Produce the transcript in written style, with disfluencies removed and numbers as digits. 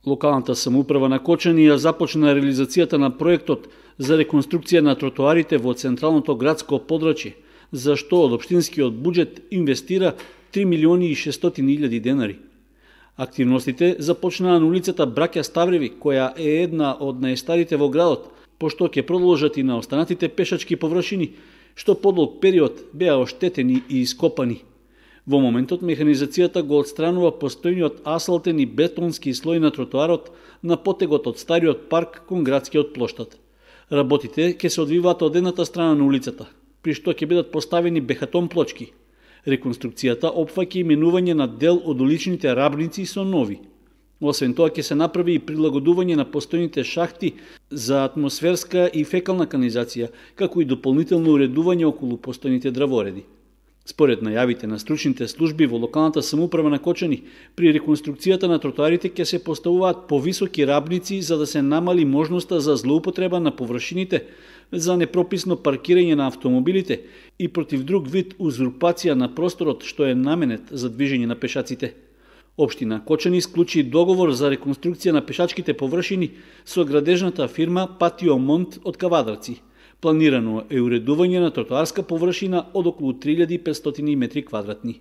Локалната самоуправа на Кочани ја започна реализацијата на проектот за реконструкција на тротоарите во централното градско подрачје, за што од општинскиот буџет инвестира 3.600.000 денари. Активностите започнаа на улицата Браќа Ставреви, која е една од најстарите во градот, пошто ќе продолжат и на останатите пешачки површини, што подолг период беа оштетени и ископани. Во моментот механизацијата го отстранува постојниот асфалтен и бетонски слој на тротоарот на потегот од стариот парк кон градскиот плоштад. Работите ќе се одвиваат од едната страна на улицата, при што ќе бидат поставени бехатон плочки. Реконструкцијата опфаќа именување на дел од уличните рабници со нови. Освен тоа ќе се направи и прилагодување на постојните шахти за атмосферска и фекална канализација, како и дополнително уредување околу постојните дравореди. Според најавите на стручните служби во локалната самоуправа на Кочани, при реконструкцијата на тротоарите ќе се поставуваат повисоки рабници за да се намали можноста за злоупотреба на површините, за непрописно паркирање на автомобилите и против друг вид узурпација на просторот што е наменет за движење на пешаците. Општина Кочани склучи договор за реконструкција на пешачките површини со градежната фирма Патио Монт од Кавадарци. Планирано е уредување на тротоарска површина од околу 3500 метри квадратни.